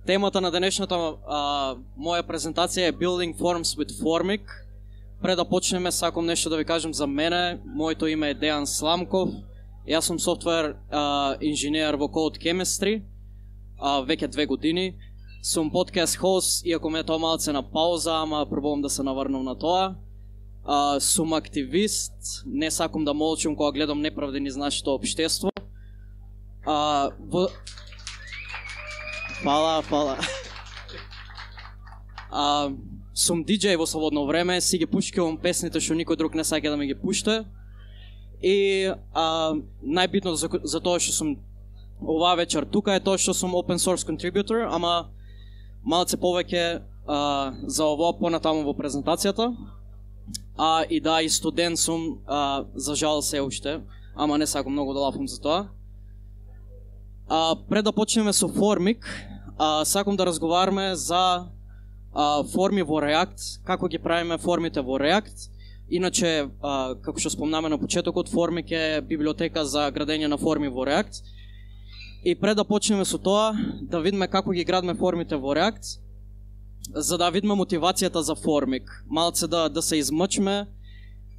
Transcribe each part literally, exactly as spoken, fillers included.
Темата на денешната а, моја презентација е Building Forms with Formic. Пред да почнеме, сакам нешто да ви кажем за мене. Моето име е Дејан Сламков. Јас сум софтвер а, инженер во Code Chemistry, а, веќе две години. Сум подкаст хост, иако ме тоа малце на пауза, ама пробувам да се наврнам на тоа. А, сум активист, не сакам да молчам кога гледам неправди низ нашето општество. А, во... Фала, фала. А, сум диџеј во слободно време, си ги пушкивам песните што никој друг не сака да ми ги пушта. И а, најбитно за, за тоа што сум оваа вечер тука е тоа што сум open source contributor, ама малце повеќе а, за ово понатаму во презентацијата. А и да, и студент сум, а, за жал се уште, ама не сакам многу да лафам за тоа. А, пред да почнеме со Formic, а, сакам да разговараме за а, форми во React, како ги правиме формите во React. Иначе, а, како што спомнаме на почетокот, Formic е библиотека за градење на форми во React. И пред да почнеме со тоа, да видиме како ги градиме формите во React, за да видиме мотивацијата за Formic. Малце да, да се измъчме,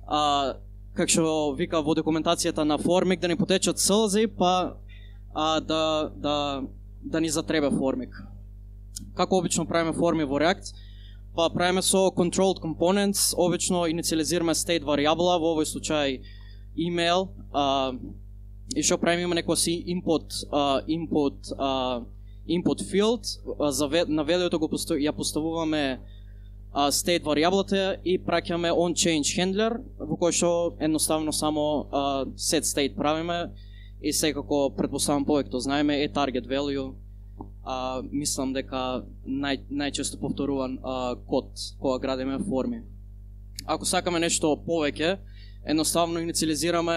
а, како што вика во документацијата на Formic, да ни потечат сълзи, па а, да, да, да ни затребе Formic. Како обично правиме форми во React? Па правиме со controlled components, обично инициализираме state варијабла, во овој случај email, а, и што правиме, има некој си input, а, input, а, input field, а, за, на велиото го постав, ја поставуваме а, state варијаблата и праќаме on change handler, во кој што едноставно само а, set state правиме и секако предпоставам повеќе знаеме е target value. А, мислам дека нај, најчесто повторуван а, код кога градиме форми. Ако сакаме нешто повеќе, едноставно инициализираме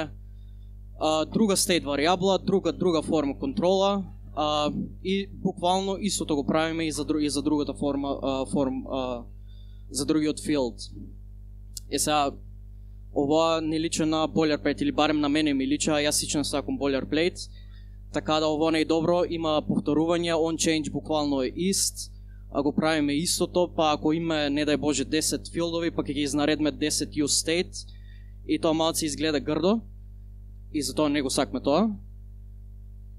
а, друга state варијабла, друга друга форма контрола, а, и буквално истото го правиме и за, и за другата форма, а, форм, а, за другиот field. Е сега, ова не личи на boilerplate, или барем на мене ми личи, а јас сичен сакам boilerplate. Така да ово не е добро, има повторување, on change буквално е ист, а го правиме истото, па ако има, не дај Боже, десет филдови, па ќе ги изнаредме десет use state, и тоа малце изгледа грдо, и затоа не го сакме тоа.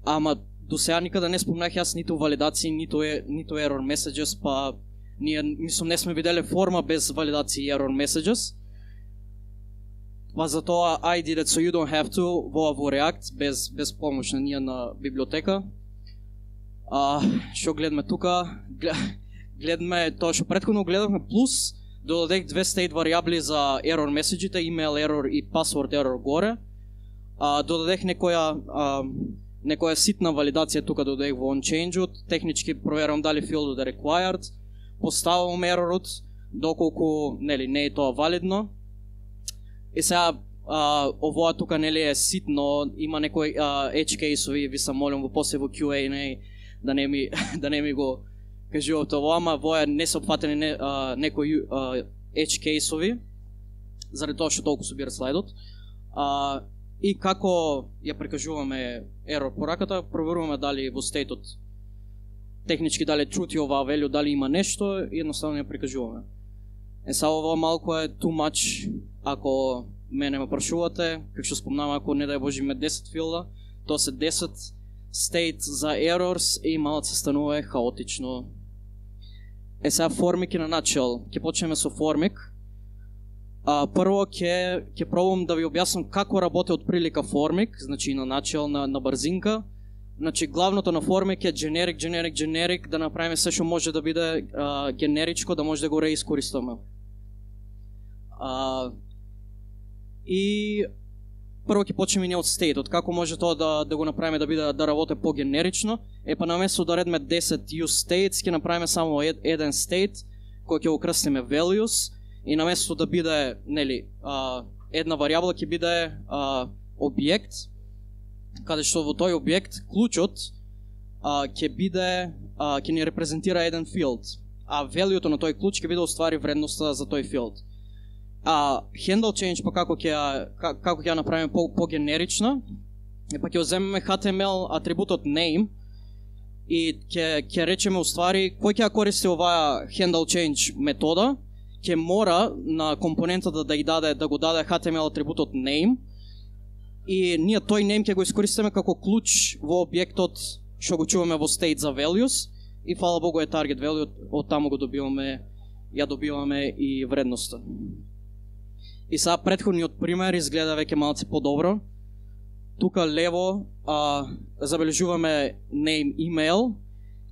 Ама до сега никада не спомнах јас ниту валидации, ниту, е, ниту error messages, па ние, мислам, не сме виделе форма без валидации и error messages. Па затоа I did it so you don't have to во во React без без помош на ние на библиотека. А што гледаме тука? Гледаме тоа што претходно гледавме, плюс додадех две state варијабли за error messages, email error и password error горе. А додадех некоја а, некоја ситна валидација тука додадех во onChange-от, технички проверам дали филдот е required, поставувам error-от доколку нели не е тоа валидно. И сега, а, овоа тука нели е ситно, има некои а, edge case-ови, ви се молам во после во Q and A да не ми да не ми го кажуват ова, ама воја не се опфатени не, а, некои а, edge case-ови, заради тоа што толку собира слайдот. А, и како ја прикажуваме error пораката, проверуваме дали во стејтот технички дали truth ова value, дали има нешто и едноставно ја прикажуваме. Е са ова малку е too much. Ако мене ме прашувате, како што спомнам, ако не дај Боже име десет филда, тоа се десет state за errors и малце станува хаотично. Е сега Formic на начел. Ќе почнеме со Formic. А, прво ќе ќе пробам да ви објаснам како работи од прилика Formic, значи на начел, на, на брзинка. Значи главното на Formic е generic, generic, generic, да направиме се што може да биде а, генеричко, да може да го реискористаме. А, и прво ќе почнеме ние од стејтот, како може тоа да, да го направиме да биде да работи по-генерично. Е па наместо да редме десет use states, ќе направиме само ед, еден state кој ќе го крстиме values, и наместо да биде нели а, една варијабла ќе биде а, објект, каде што во тој објект клучот а, ќе биде а, ќе ни репрезентира еден field, а value-то на тој клуч ќе биде уствари вредноста за тој field. А handle change па како ќе како ќе ја направиме по по генерична, е па ќе земеме H T M L атрибутот name и ќе ќе речеме уствари кој ќе користи оваа handle change метода, ќе мора на компонентата да ја даде да го даде H T M L атрибутот name, и ние тој name ќе го искористиме како клуч во објектот што го чуваме во state за values, и фала Богу е target value, од таму го добиваме, ја добиваме и вредноста. И сега претходниот пример изгледа веќе малце подобро. Тука лево а, забележуваме name email,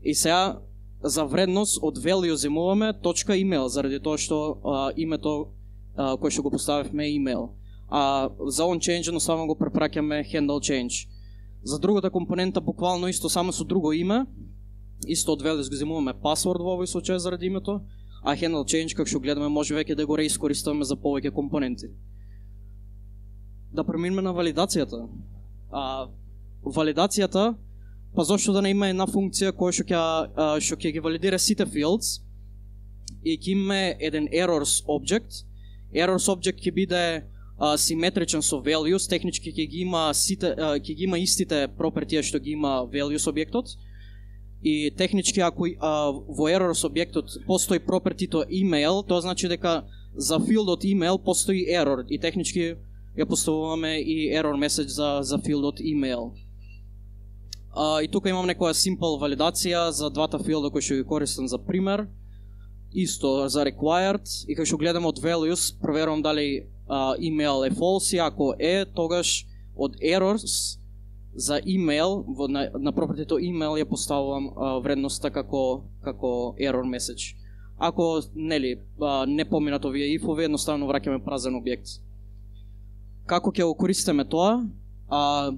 и сега за вредност од value земуваме точка email, заради тоа што а, името а, кој што го поставивме е email. А за on change едноставно го препраќаме handle change. За другата компонента буквално исто, само со друго име. Исто од values го земуваме password во овој случај заради името, а handle change, како што гледаме, може веќе да го реискористуваме за повеќе компоненти. Да преминеме на валидацијата. А, валидацијата, па зошто да не има една функција која што ќе што ќе ги валидира сите fields и ќе има еден errors object. Errors object ќе биде а, симетричен со values, технички ќе ги има сите а, ќе ги има истите пропертија што ги има values објектот. И технички ако а, во errors објектот постои пропертито email, тоа значи дека за филдот email постои error и технички ја поставуваме и error message за за филдот email. А, и тука имам некоја simple валидација за двата филда кои што ги користам за пример. Исто за required, и кога што гледам од values, проверувам дали а, email е false, и ако е, тогаш од errors за email, во, на, на пропертито email ја поставувам а, вредноста како како error message. Ако нели а, не поминат овие if-ови, едноставно враќаме празен објект. Како ќе го користиме тоа? А,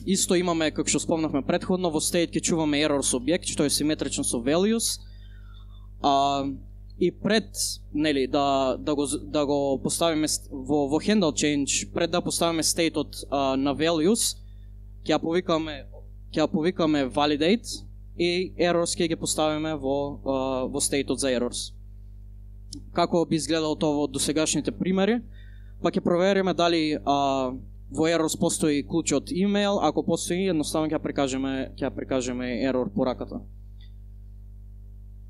исто имаме, како што спомнавме претходно, во state ќе чуваме errors објект, што е симетричен со values. А, и пред нели да да го да го поставиме во во handle change, пред да поставиме стейтот на values, ќе ја повикаме ќе ја повикаме validate и errors ќе ги поставиме во а, во стейтот за errors. Како би изгледало тоа во досегашните примери? Па ќе провериме дали а, во errors постои клучот email, ако постои, едноставно ќе ја прикажеме ќе ја прикажеме error пораката.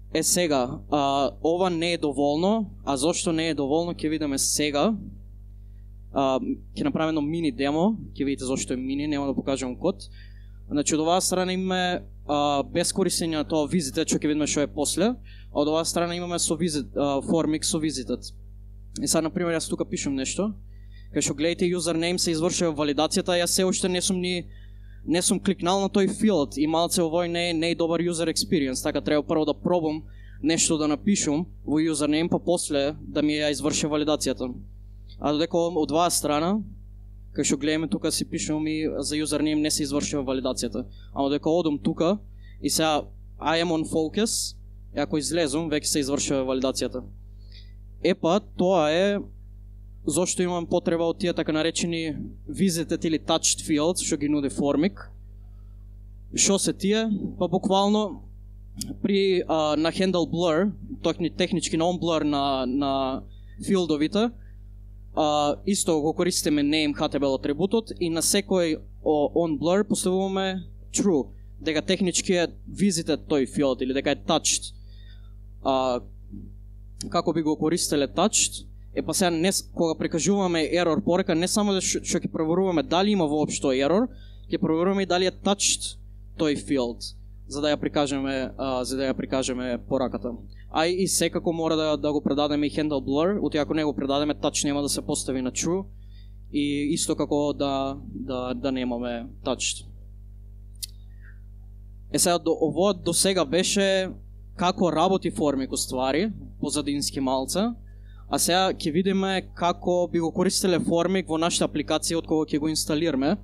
Е сега, а, ова не е доволно, а зошто не е доволно ќе видиме сега. А, ќе направиме едно мини демо, ќе видите зошто е мини, нема да покажам код. Значи од оваа страна имаме а, без користење на тоа visited, што ќе видиме што е после, а од оваа страна имаме со visit, а, formix со visited. И сега, например, јас тука пишам нешто, кај што гледате username се извршува валидацијата, јас се уште не сум ни не сум кликнал на тој филд и малце овој не е не е добар user experience, така треба прво да пробам нешто да напишам во username, па после да ми ја изврши валидацијата. А додека од оваа страна, кај што гледаме тука си пишам и за username не се извршува валидацијата. А додека одам тука и сега I am on focus, и ако излезум, веќе се извршува валидацијата. Епа, тоа е зошто имам потреба од тие така наречени visited или touched fields, што ги нуди Formic. Што се тие? Па буквално при а, на handle blur, токни технички на on blur на на филдовите, а, исто го користиме name H T M L атрибутот и на секој on blur поставуваме true, дека технички е visited тој field или дека е touched. А, како би го користеле touched? Е па сега не, кога прикажуваме error порека, не само да што ќе проверуваме дали има воопшто error, ќе проверуваме и дали е touched тој field, за да ја прикажеме, а, за да ја прикажеме пораката. А и секако мора да да го предадеме и handle blur, оти ако не го предадеме, touch нема да се постави на true, и исто како да да да немаме touched. Е сега до ово до сега беше како работи Formic уствари, позадински малце. А сега ќе видиме како би го користеле Formic во нашата апликација од кога ќе го инсталираме.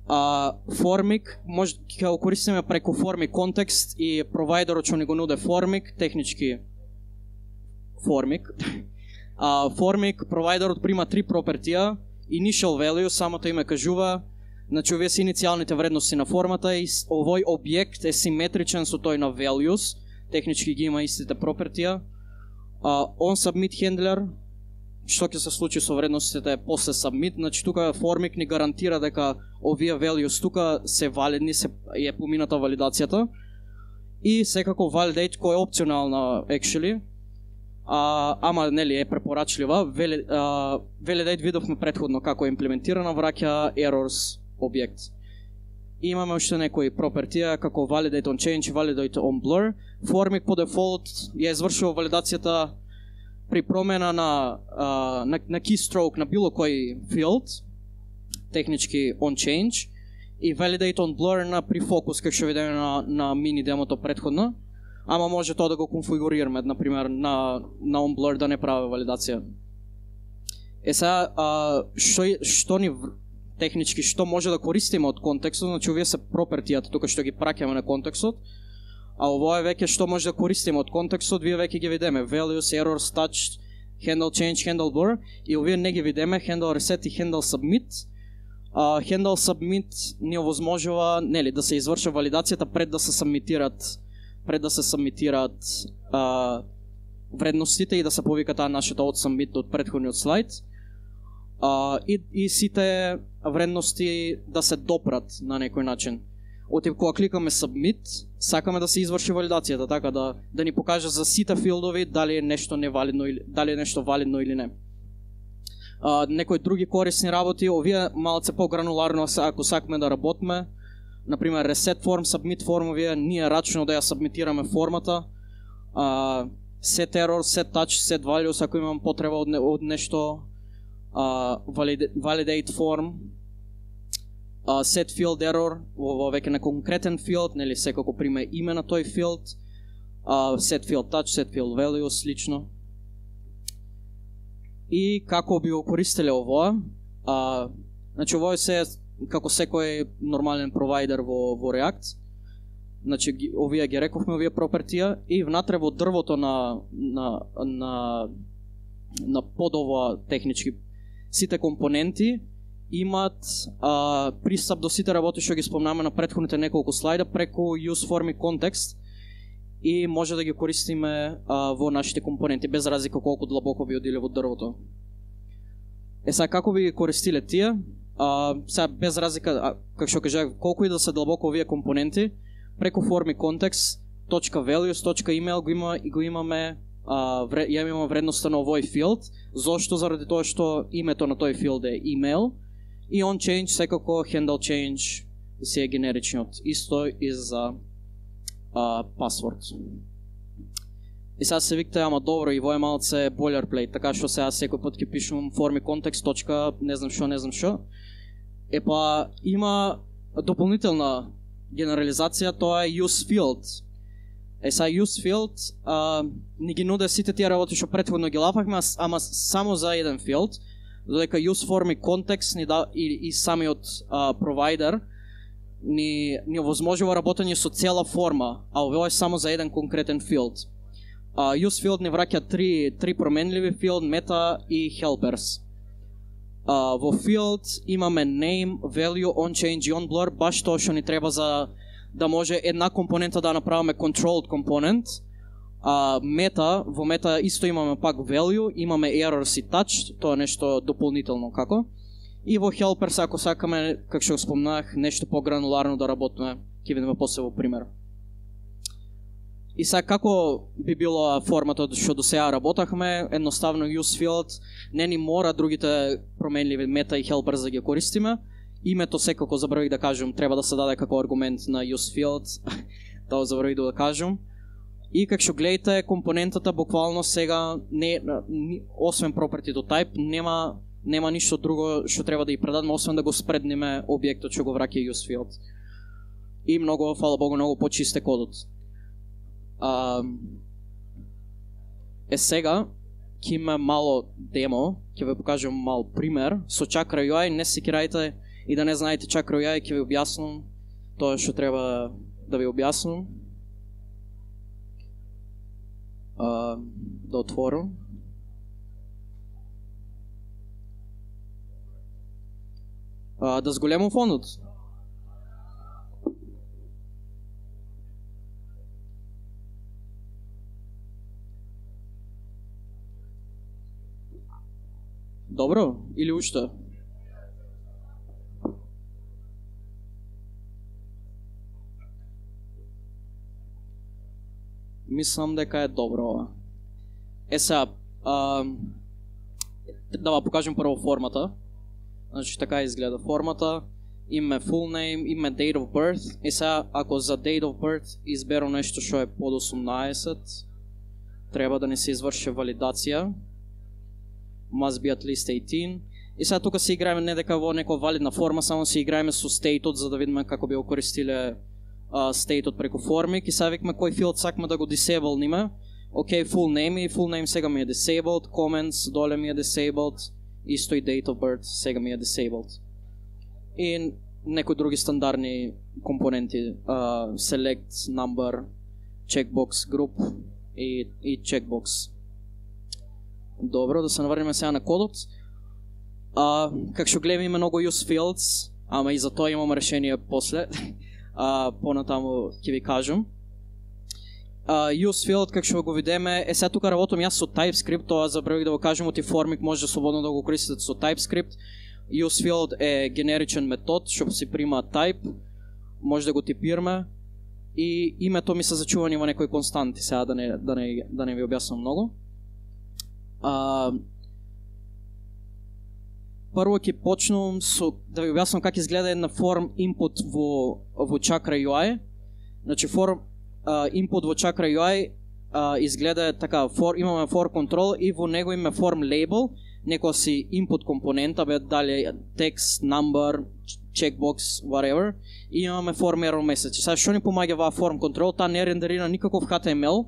А, Formic може ќе го користиме преку Formic Context и провайдерот што ни го нуде Formic, технички Formic. А, Formic провайдерот прима три пропертија, initial value, самото име кажува, значи овие се иницијалните вредности на формата и овој објект е симетричен со тој на values, технички ги има истите пропертија. Uh, on submit handler, што ќе се случи со вредностите после submit, значи тука Formik ни гарантира дека овие values тука се валидни, се е помината валидацијата. И секако validate кој е опционална actually. А, ама нели е препорачлива. Validate видовме претходно како е имплементирана, враќа errors објект. И имаме уште некои пропертија како validate on change, validate on blur. Formik по дефолт ја извршува валидацијата при промена на, а, на, на keystroke на било кој field, технички on change, и validate on blur на при фокус, како што видиме на, на мини демото претходно, ама може тоа да го конфигурираме, например, на, на on blur да не прави валидација. Е сега, а, што, што ни технички, што може да користиме од контекстот, значи овие се пропертијата тука што ги праќаме на контекстот, а ово е веќе што може да користиме од контекстот, вие веќе ги видиме, values, errors, touch, handle change, handle blur, и овие не ги видиме, handle reset и handle submit. Uh, handle submit ни овозможува, нели, да се изврши валидацијата пред да се сабмитират, пред да се сабмитират uh, вредностите и да се повика таа нашата од submit од претходниот слайд. Uh, и, и сите вредности да се допрат на некој начин. Отип кога кликаме submit, сакаме да се изврши валидацијата, така да да ни покаже за сите филдови дали е нешто невалидно или дали е нешто валидно или не. Uh, некои други корисни работи, овие малце по-грануларно ако сакаме да работиме, например reset form, submit form, овие ние рачно да ја сабмитираме формата, uh, set error, set touch, set values ако имам потреба од, не, од нешто, uh, validate, validate form, uh, set field error, ово веќе на конкретен field, нели секако приме име на тој field, uh, set field touch, set field values, лично. И како би го користеле ово? А, значи ово е се како секој нормален провайдер во, во React. Значи овие ги рековме, овие пропертија, и внатре во дрвото на на на на подова технички сите компоненти имат а, пристап до сите работи што ги спомнаме на претходните неколку слайда преку use form и context, и може да ги користиме а, во нашите компоненти без разлика колку длабоко би одиле во дрвото. Е сега како би ги користиле тие? А, сега без разлика, како што кажав, колку и да се длабоко овие компоненти, преку form и context, .values, .email го има и го имаме, а, вре, ја имаме вредноста на овој field. Зошто? Заради тоа што името на тој field е email, и on change секако handle change си е генеричниот. Исто и за Uh, пасворд. И сега се викте, ама добро, и во е малце boilerplate, така што сега секој пат ќе пишувам form и context, точка, не знам шо, не знам шо. Е па има дополнителна генерализација, тоа е use field. Е сега use field uh, ни ги нуде сите тие работи што претходно ги лапахме, ама само за еден field, додека use form и context ни да, и, и самиот uh, провайдер ни, ни овозможува работење со цела форма, а ово е само за еден конкретен field. Uh, use field ни враќа три, три променливи field, meta и helpers. Uh, во field имаме name, value, on change и on blur, баш тоа што ни треба за да може една компонента да направиме controlled component. Uh, meta, во meta исто имаме пак value, имаме errors и touch, тоа е нешто дополнително како. И во helpers, ако сакаме, како што спомнах, нешто по-грануларно да работиме, ќе видиме после во пример. И сега како би било форматот што до сега работахме, едноставно use field, не ни мора другите променливи meta и helpers да ги користиме. Името секако забравих да кажам, треба да се даде како аргумент на use field, тоа забравих да кажам. И како што гледате, компонентата буквално сега не, освен property to type, нема нема ништо друго што треба да ја предадеме, освен да го спредниме објектот што го враќа use field. И многу, фала Богу, многу почист е кодот. А, е сега, ќе има мало демо, ќе ви покажам мал пример со Chakra ю ай, не се кирајте и да не знаете Chakra ю ай, ќе ви објаснам тоа што треба да ви објаснам. А, да отворам. А, да зголемам фонот. Добро, или уште? Мислам дека е добро ова. Е сега, а, да ва покажем прво формата. Значи така изгледа формата. Име full name, име date of birth. И сега, ако за date of birth изберам нещо што е под осумнаесет, треба да не се изврши валидација. Must be at least eighteen. И сега тука се играеме не дека во некоја валидна форма, само се играеме со стейтот за да видиме како би го користиле uh, стейтот преку формик. И сега викаме кој филд сакаме да го disableниме. Окей, okay, full name и full name сега ми е disabled, comments доле ми е disabled, исто и date of birth сега ми е disabled. И некои други стандардни компоненти, uh, select, number, checkbox, group и, и checkbox. Добро, да се наврнеме сега на кодот. Uh, как што гледаме има многу use fields, ама и за тоа имам решение после. uh, Понатаму ќе ви кажам. Uh, use field, как што го видиме, е сега тука работам јас со TypeScript, тоа забравих да го кажам, оти формик може слободно да го користите со TypeScript. Use field е генеричен метод, што си прима type, може да го типираме и името ми се зачувани во некои константи, сега да не, да не, да не ви објаснам многу. Uh, Прво ќе почнам со да ви објаснам како изгледа една form input во во Chakra ю ай. Значи form uh, input во Chakra ю ай uh, изгледа така, for, имаме for control и во него имаме form label, некоја си input компонента, бе дали text, number, checkbox, whatever, и имаме form error message. Сега што ни помаѓа ваа form control? Таа не рендерира никаков H T M L,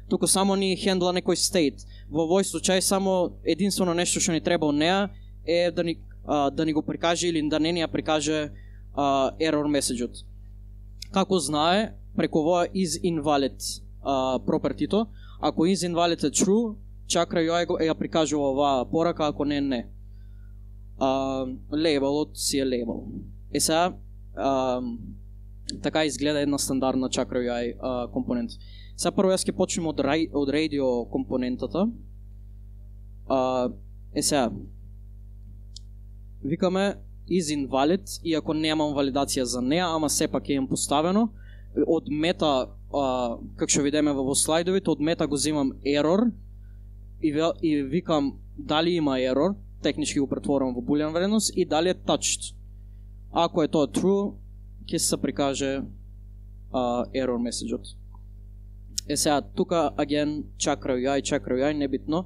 туку само ни хендла некој state. Во овој случај само единствено нешто што ни треба од неа е да ни, а, да ни го прикаже или да не ни ја прикаже а, error message-от. Како знае, преку овоја is invalid а, property-то, ако is invalid е true, Chakra ю ай ја прикажува оваа порака, ако не, не. А, labelот си е label. Е сега, а, така изгледа една стандардна Chakra ю ай а, компонент. Сега прво јас ќе почнем од, од radio компонентата. А, е сега, викаме is invalid, иако немам валидација за неа, ама сепак е имам поставено. Од мета, а, как што видиме во слайдовите, од мета го земам error и, и викам дали има error, технички го претворам во булеан вредност и дали е touched. Ако е тоа true, ќе се прикаже а, error message-от. Е сега, тука, again, Chakra ю ай, Chakra ю ай, небитно,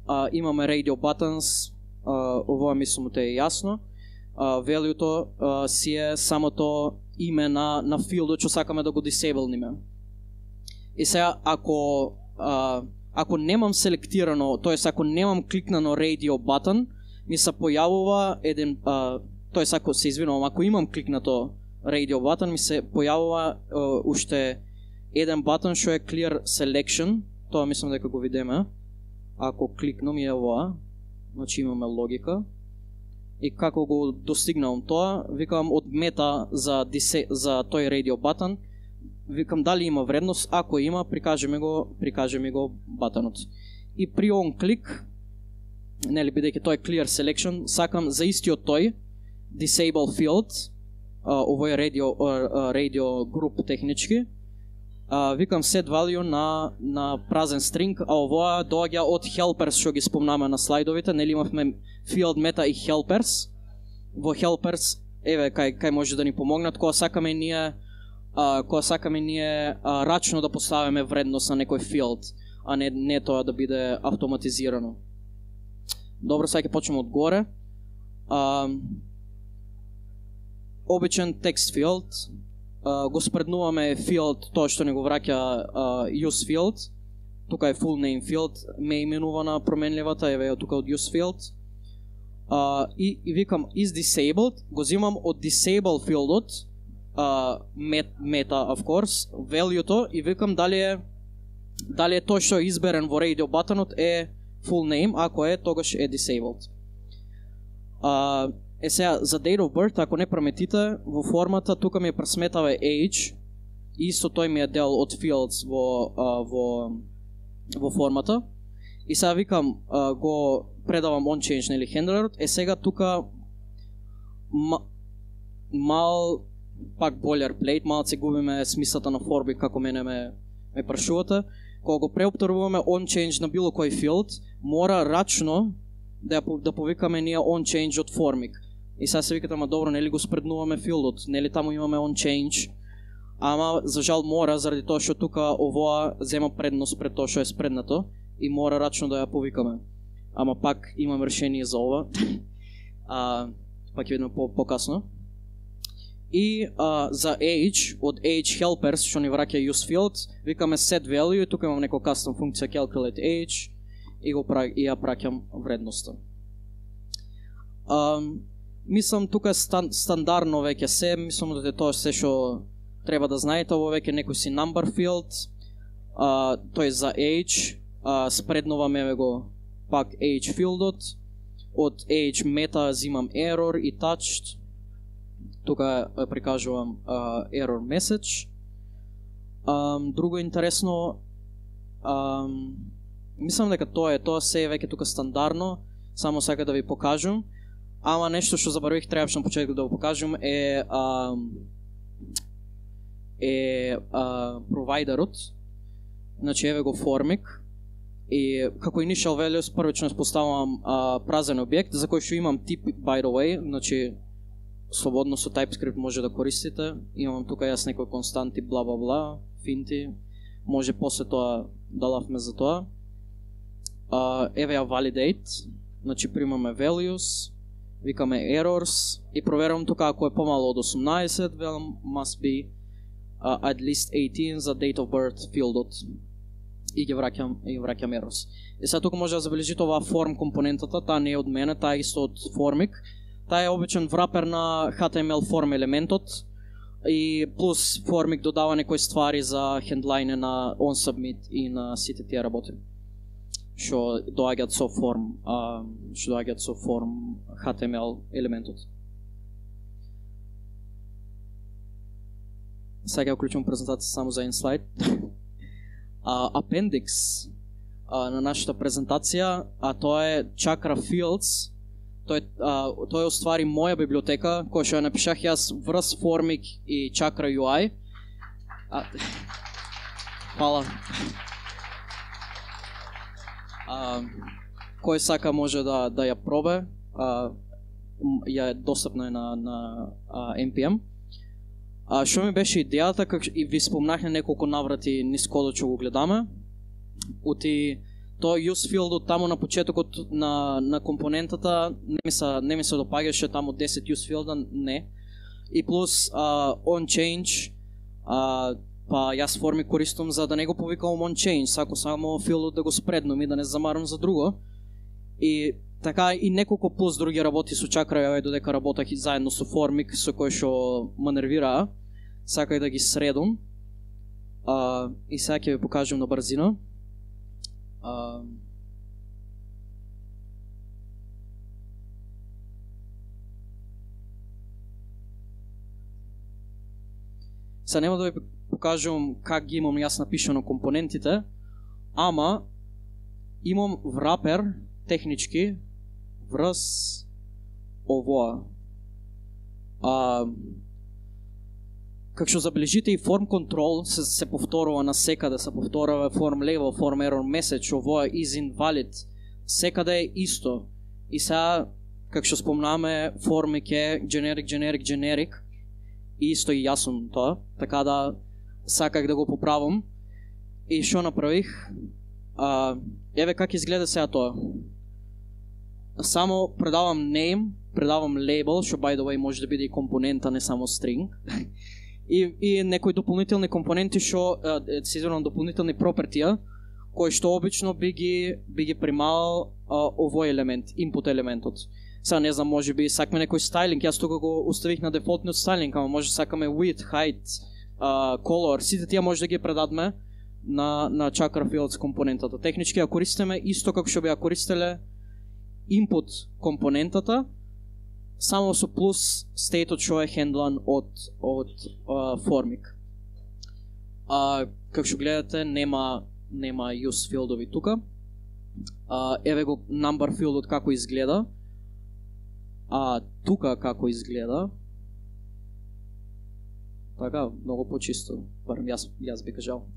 а, имаме radio buttons, Uh, ова мислам те е јасно. Uh, Value-то uh, си е самото име на, на филдот што сакаме да го disableниме. И сега, ако, uh, ако немам селектирано, тоест ако немам кликнано radio button, ми се појавува еден, uh, тоест ако се извинувам, ако имам кликнато radio button, ми се појавува uh, уште еден button што е clear selection, тоа мислам дека го видиме. Ако кликнам и ова, значи имаме логика. И како го достигнавам тоа, викам од мета за, дисе, за тој radio button, викам дали има вредност, ако има, прикаже ми го, прикаже ми го батонот. И при on клик, нели бидејќи тој clear selection, сакам за истиот тој disable field, uh, овој radio, uh, radio group технички, Uh, викам set value на, на празен string, а овоа доаѓа од helpers што ги спомнаме на слайдовите, нели имавме field meta и helpers. Во helpers, еве кај кај може да ни помогнат кога сакаме ние uh, кога сакаме ние uh, рачно да поставиме вредност на некој field, а не не тоа да биде автоматизирано. Добро, сега ќе почнеме од горе. Uh, обичен text field. Uh, го спреднуваме field, тоа што не го враќа uh, use field. Тука е full name field, ме именувана променливата, еве тука од use field. Uh, и, и викам is disabled, го земам од disable field-от, uh, met, meta of course, value-то и викам дали е дали е тоа што е изберен во radio button-от е full name, ако е тогаш е disabled. Uh, Е сега, за date of birth, ако не прометите, во формата тука ми е пресметава age, и исто тој ми е дел од fields во, а, во, во формата. И сега викам, а, го предавам onChange или handlerот, е сега тука ма, мал пак boilerplate, малце губиме смислата на форми како мене ме, ме прашувате. Кога го преопторуваме onChange на било кој филд, мора рачно да, да повикаме ние onChange од формик. И сега се викате, ама добро, нели го спреднуваме филдот, нели таму имаме onChange, ама за жал мора, заради тоа што тука овоа зема предност пред тоа што е спреднато и мора рачно да ја повикаме. Ама пак имам решение за ова, а, пак ќе видиме по, по-касно. И а, за age, од age helpers, што ни враќа useField, викаме set value, и тука имам некоја custom функција calculate age, и, го, и ја праќам вредноста. А, мислам, тука е стан, стандарно веќе се, мислам да е тоа се што треба да знаете, ово веќе некој си number field, а, тој за age, а, спреднуваме го пак age филдот, од age meta зимам error и touched, тука прикажувам uh, error message. Um, друго интересно, um, мислам дека тоа е, тоа се е веќе тука стандарно, само сега да ви покажам, ама нешто што заборавих, требаше на почетокот да го покажам, е um, е uh, провайдерот, значи еве го формик, и како initial values првично поставувам uh, празен објект, за кој што имам тип by the way, значи слободно со TypeScript може да користите. Имам тука јас некои константи, бла бла бла, финти. Може после тоа да лавме за тоа. Uh, еве ја validate, значи примаме values, викаме errors и проверувам тука ако е помало од осумнаесет, велам must be uh, at least eighteen за date of birth филдот. И ги враќам, и враќам errors. И сега тука може да забележите оваа form компонентата, таа не е од мене, таа е исто од Formik. Таа е обичен врапер на H T M L form елементот и плюс Formik додава некои ствари за хендлајне на onSubmit и на сите тие работи што доаѓаат со form, а, што доаѓаат со form H T M L елементот. Сега ја уклучувам презентација само за еден слайд. Uh, appendix uh, на нашата презентација, а тоа е Chakra Fields. Тоа е, uh, тоа е уствари моја библиотека, која што ја напишах јас врз Formik и Chakra ю ай. А, Фала. Uh, кој сака може да, да ја пробе, uh, ја е достапна на, на uh, N P M. А што ми беше идејата, как и ви спомнахме неколку наврати низ кодот што го гледаме, ути тоа useField таму на почетокот на на компонентата не ми се не ми се допаѓаше таму десет useField, не. И плюс uh, onChange, uh, па јас форми користам за да не го повикам onChange, сако само филдот да го спреднам и да не замарам за друго. И така и неколку плюс други работи со Chakra ю ай додека работах и заедно со Formik, со кој што ме нервираа. Сакај да ги средам. А, и сега ќе ви покажам на брзина. А, Сега нема да ви покажам как ги имам јас напишано компонентите, ама имам врапер технички врз овоа. А, как што забележите и form control се, се повторува на секаде, се повторува form label, form error message, овоа is invalid, секаде е исто. И сега, как што спомнаме, Formik е generic, generic, generic, и исто и јасно тоа, така да саках да го поправам. И што направих? А, еве как изгледа сега тоа. Само предавам name, предавам label, што by the way може да биде и компонента, не само string. и, и некои дополнителни компоненти што се изменувам дополнителни пропертија, кои што обично би ги би ги примал а, овој елемент, input елементот. Сега не знам, може би сакаме некој стайлинг, јас тука го оставих на дефолтниот стайлинг, ама може сакаме width, height, uh, color, сите тие може да ги предадме на на Chakra Fields компонентата. Технички ја користиме исто како што би ја користеле input компонентата, само со плюс стејтот што е хендлан од од uh, Formik. А како што гледате, нема нема use филдови тука. а, еве го number fieldот како изгледа. А тука како изгледа. Така, многу почисто, барем јас, јас би кажал.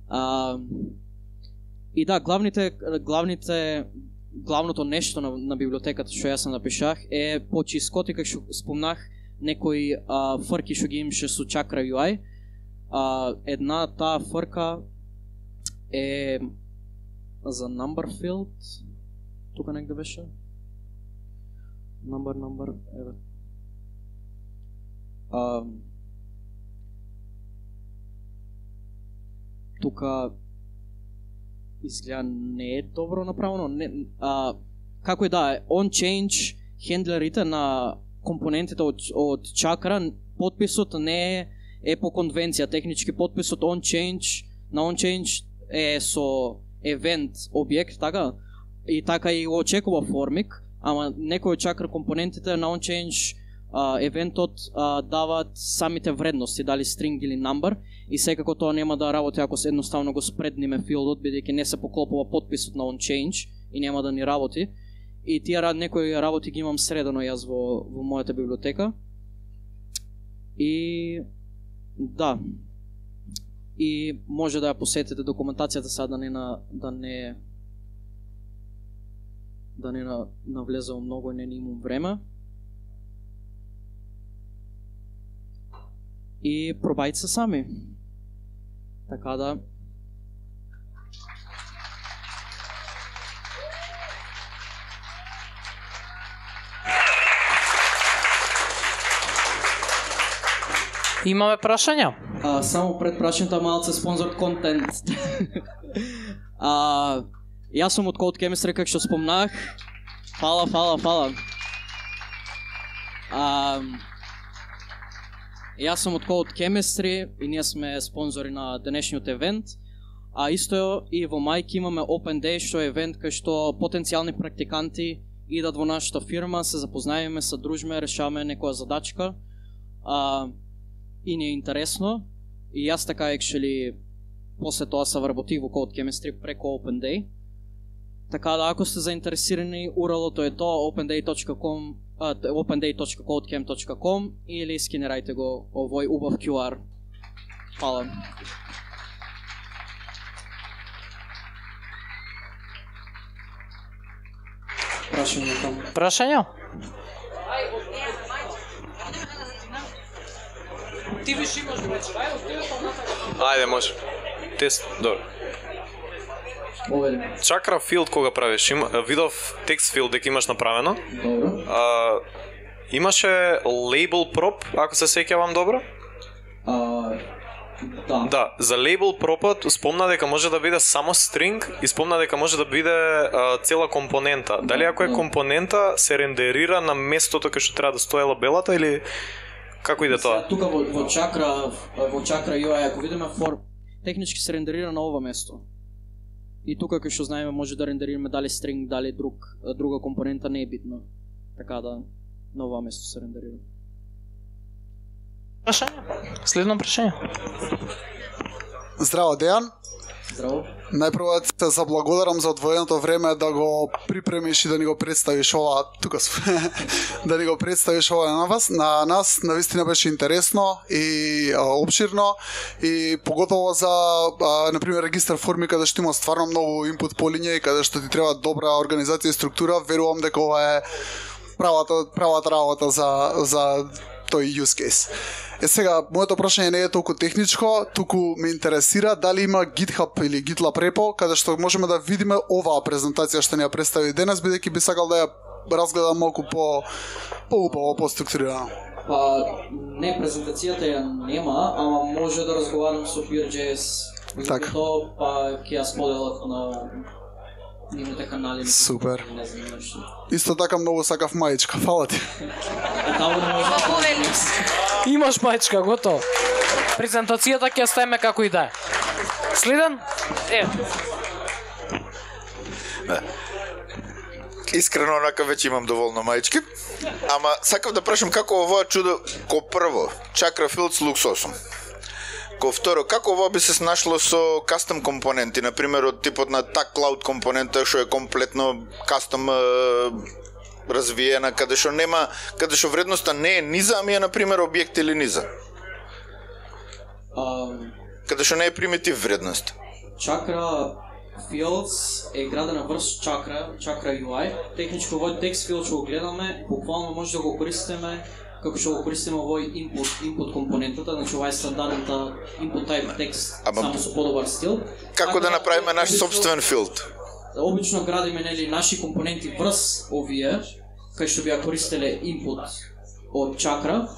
а, и да, главните, главните, главното нешто на, на библиотеката што јас напишах е почискот и како што спомнах некои а, фрки што ги имаше со Chakra ю ай. А, една таа фрка е за number field. Тука негде беше. Number, number, еве. А, тука изгледа не е добро направено. Не, а, како и да е, on change хендлерите на компонентите од, од Chakra, подписот не е, е по конвенција, технички подписот on change, на on change е со event објект, така, и така и го очекува формик, ама некои од Chakra компонентите на on change Uh, евентот uh, даваат самите вредности, дали string или number, и секако тоа нема да работи ако се едноставно го спредниме филдот, бидејќи не се поклопува подписот на on change и нема да ни работи. И тие некои работи ги имам средено јас во, во мојата библиотека. И да. И може да ја посетите документацијата сега да не на да не да не на, навлезам многу и не имам време. И пробајте се сами. Така да... Имаме прашања? А, само пред прашањето малце спонзор контент. а, јас сум од Code Chemistry, како што спомнах. Фала, фала, фала. А, Јас сум од Code Chemistry и ние сме спонзори на денешниот евент. А исто и во мајки имаме Open Day, што е евент кај што потенцијални практиканти идат во нашата фирма, се запознаеме, се дружиме, решаваме некоја задачка. А, и ни е интересно. И јас така actually после тоа се вработих во Code Chemistry преку Open Day. Така да ако сте заинтересирани, ю ар ел-то е тоа open day точка com Uh, open day точка codechem точка com или скинирајте го овој убав кју ар. Фала. Прашање таму. Прашања? Ти виш имаш вече, ајде, Ајде, може. Тест, добро. Chakra field кога правиш, има видов text field дека имаш направено. Добро. А, имаше label prop, ако се сеќавам добро? А, да. Да, за label propот спомна дека може да биде само string и спомна дека може да биде а, цела компонента. Дали ако е компонента се рендерира на местото кај што треба да стои лабелата или како иде тоа? Тука во, во Chakra, во Chakra ю ай, ако видиме for технички се рендерира на ова место. И тука кај што знаеме може да рендерираме дали string, дали друг друга компонента, не е битно. Така да на ова место се рендерира. Прашање? Следно прашање. Здраво, Дејан. Здраво. Најпрво те заблагодарам за одвоеното време да го припремиш и да ни го представиш ова, тука сум, да ни го представиш ова на вас, на нас, навистина беше интересно и а, обширно и поготово за, а, например, регистар форми каде што има стварно многу инпут по линија и каде што ти треба добра организација и структура, верувам дека ова е правата, правата работа за, за тој use case. Е сега, моето прашање не е толку техничко, туку ме интересира дали има GitHub или GitLab репо, каде што можеме да видиме оваа презентација што ни ја представи денес, бидејќи би сакал да ја разгледам малку по поубаво, поструктурирано. Па, не, презентацијата ја нема, ама може да разговарам со Peer.js. Така. Тоа, па ќе ја споделат на нивните канали. Супер. Не знам нешто. Исто така многу сакав мајичка, фала ти. Таму не може да... Имаш мајчка, готово. Презентацијата ќе ставиме како и да е. Следен? Е. Искрено, онака веќе имам доволно мајчки. Ама сакав да прашам како овоја чудо ко прво Chakra Fields луксосум. Ко второ, како ова би се снашло со кастом компоненти, на пример од типот на так клауд компонента што е комплетно кастом развиена, каде што нема, каде што вредноста не е низа, ами е на пример објект или низа. Um, Каде што не е примитив вредност. Chakra Fields е градена врз Chakra, Chakra ю ай. Технички овој текст field што го гледаме, буквално може да го користиме како што го користиме овој input, input компонентата, значи ова е стандардната input type текст, Ама, само со подобар стил. Како да направиме наш собствен филд? Обично градиме нели наши компоненти врз овие, кај што би ја користеле input од Chakra,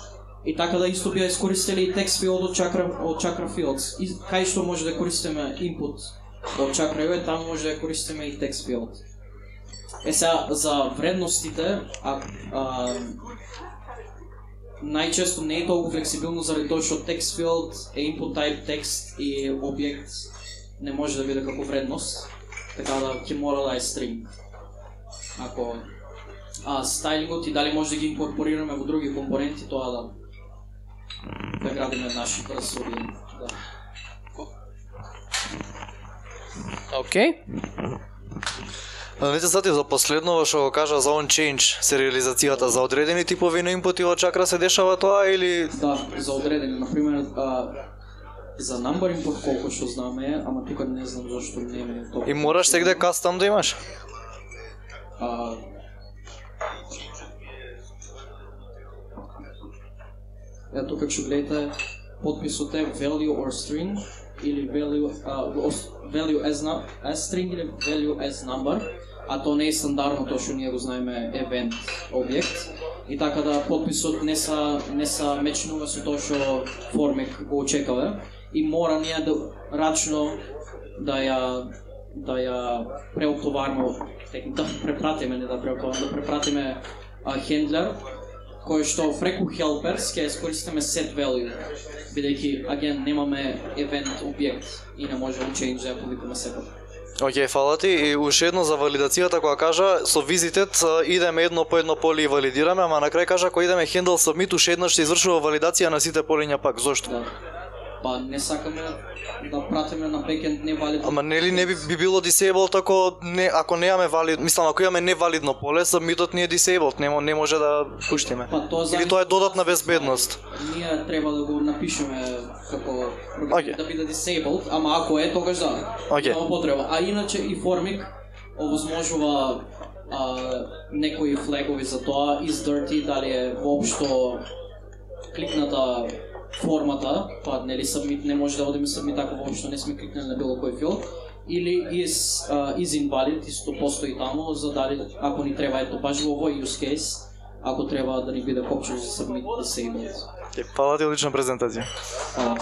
и така да исто би ја искористеле и text field од Chakra, од Chakra Fields. И кај што може да користиме input од Chakra ю ай, таму може да ја користиме и text field. Е сега, за вредностите, а, а, најчесто не е толку флексибилно заради тоа што text field е input type текст и објект не може да биде како вредност, така да ќе мора да е string. Ако а стайлингот и дали може да ги инкорпорираме во други компоненти, тоа да да градиме наши красови. Да. Океј. Не се сетив за последново што го кажа за on-change, сериализацијата за одредени типови на инпути од Chakra се дешава тоа или... Да, за одредени, например, а, за number input колку што знаме, ама тука не знам зашто не е тоа. И мораш сегде кастом да имаш? А, Е, тука што гледате, подписот е value or string или value, uh, value as, as string или value as number, а то не е стандардното што ние го знаеме event објект. И така да подписот не са не са мечнува со тоа што формик го очекува и мора ние да рачно да ја да ја преотоваримо, да препратиме, не да преотоваримо, да препратиме а, хендлер кој што преку helpers ќе искористиме set value, бидејќи аген немаме event објект и не може on change да ја повикаме секој. Океј, фала ти. И уште едно за валидацијата која кажа, со visited идеме едно по едно поле и валидираме, ама на крај кажа кога идеме handle submit уште еднаш се извршува валидација на сите полиња пак. Зошто? Да. Па не сакаме да пратиме на бекенд невалидно. Ама нели не би, би било disabled ако не ако немаме валид, мислам ако имаме невалидно поле, submitот ни е disabled, не, не може да пуштиме. Па тоа или тоа е додатна безбедност. Ние треба да го напишеме како okay. да биде disabled, ама ако е тогаш да. Okay. Нема потреба. А иначе и Formic овозможува а, некои флагови за тоа, is dirty, дали е воопшто кликната формата, па нели submit не може да одиме submit ако воопшто не сме кликнали на било кој филд, или is uh, is invalid, исто постои таму за дали ако ни треба ето баш во овој use case, ако треба да ни биде копче за submit disabled. Е, фала ти, одлична презентација. А,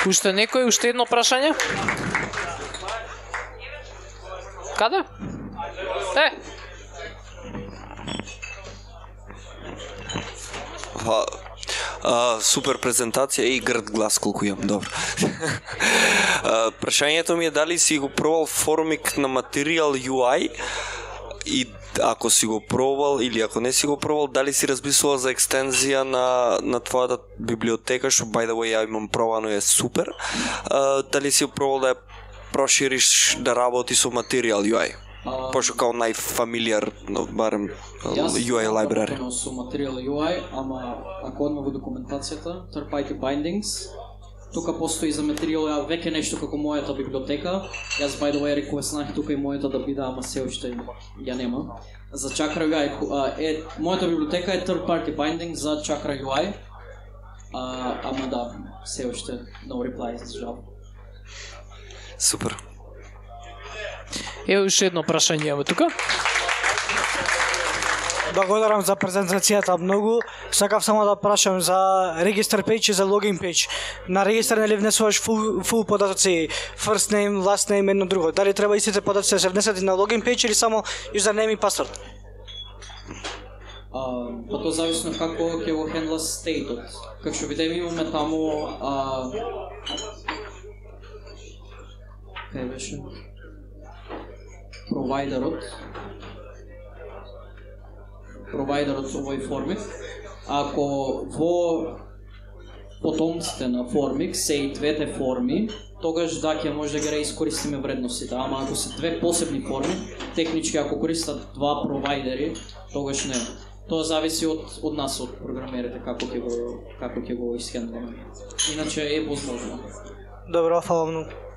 Уште некој, уште едно прашање? Каде? Е, Па, а, супер презентација и грд глас колку имам, добро. а, прашањето ми е дали си го пробал Formic на Material ю ай и ако си го пробал или ако не си го пробал, дали си размислувал за екстензија на, на твојата библиотека, што by the way ја имам пробано и е супер. А, дали си го пробал да ја прошириш да работи со Material ю ай? Пошто као најфамилиар, барем ю ай library. Јас со Material ю ай, ама ако одме во документацијата, third party bindings, тука постои за Material ю ай веќе нешто како мојата библиотека. Јас by the way реквестнах тука и мојата да биде, ама се уште ја нема. За Chakra ю ай е мојата библиотека е third party bindings за Chakra ю ай. А, ама да, се уште no reply за жал. Супер. е уште едно прашање имаме тука. Благодарам за презентацијата многу. Сакав само да прашам за регистр пејдж и за логин пејдж. На регистр нели внесуваш фул, фул податоци, first name, last name, едно друго. Дали треба истите податоци да се внесат и на логин пејдж или само username и password? А, па тоа зависно како ќе го хендла стейтот. Како што видиме имаме таму а кај беше провайдерот провайдерот овој Formic ако во потомците на Formix се и двете форми, тогаш да ќе може да ги реискористиме вредностите, ама ако се две посебни форми, технички ако користат два провайдери, тогаш не. Тоа зависи од од нас, од програмерите, како ќе го како ќе го исхендламе. Иначе е возможно. Добро, фала многу.